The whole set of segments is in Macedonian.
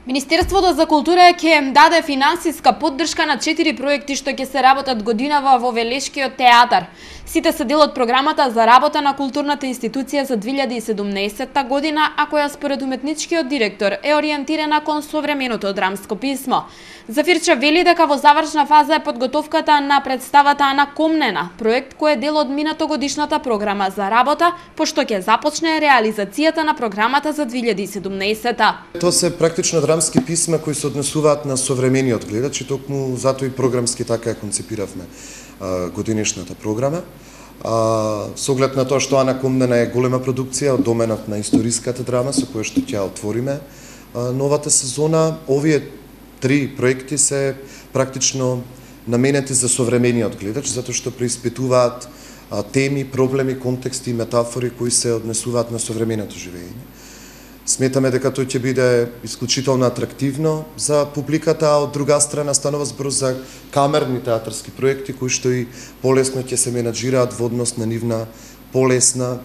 Министерството за култура ќе даде финансиска поддршка на 4 проекти што ќе се работат годинава во Велешкиот театар. Сите се дел од програмата за работа на културната институција за 2017 година, а која според уметничкиот директор е ориентирана кон современото драмско писмо. Зафирча вели дека во завршна фаза е подготовката на представата Ана Комнена, проект кој е дел од минатогодишната програма за работа, пошто ќе започне реализацијата на програмата за 2017. Тоа се практично драмски писма кои се однесуваат на современиот гледач и токму затоа и програмски така ја концепиравме годинешната програма. Со оглед на тоа што Ана Комнена е голема продукција од доменот на историската драма со која што ќе отвориме новата сезона, овие 3 проекти се практично наменети за современиот гледач, затоа што преиспитуваат теми, проблеми, контексти и метафори кои се однесуваат на современото живење. Сметаме дека тој ќе биде исклучително атрактивно за публиката, а од друга страна станува збор за камерни театарски проекти кои што и полесно ќе се менаџираат во однос на нивна полесна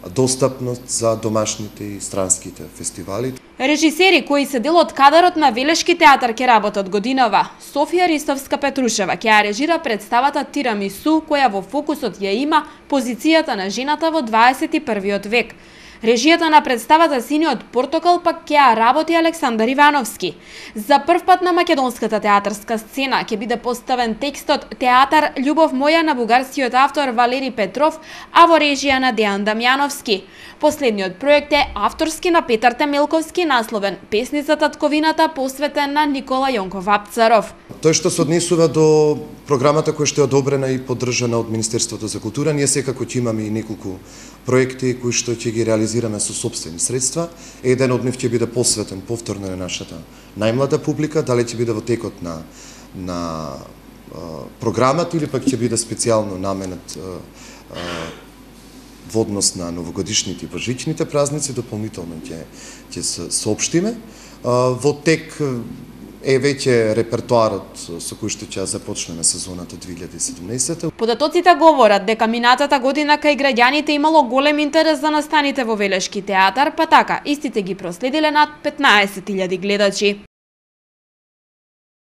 достапност за домашните и странските фестивали. Режисери кои се дел од кадарот на Велешки театар ќе работат годинава. Софија Ристовска-Петрушева ќе ја режира представата Тирамису, која во фокусот ја има позицијата на жената во 21 век. Режијата на представата Синиот портокал пак ќе ја работи Александар Ивановски. За прв пат на македонската театарска сцена ќе биде поставен текстот Театар љубов моја на бугарскиот автор Валери Петров, а во режија на Дејан Дамјановски. Последниот проект е авторски на Петар Темелковски, насловен Песница татковината, посветен на Никола Јонков Апцаров. Тој што се однесува до програмата која што е одобрена и поддржана од Министерството за култура, ние секако ќе имаме и неколку проекти кои што ќе ги реализираме со сопствени средства. Еден од нив ќе биде посветен повторно на нашата најмлада публика, дали ќе биде во текот на програмата или пак ќе биде специјално наменет во однос на новогодишните и божичните празници, дополнително ќе се соопштиме. Во тек е веќе репертоарот со кој што ќе започнеме сезоната 2017. Податоците говорат дека минатата година кај граѓаните имало голем интерес за настаните во Велешки театар, па така истите ги проследиле над 15.000 гледачи.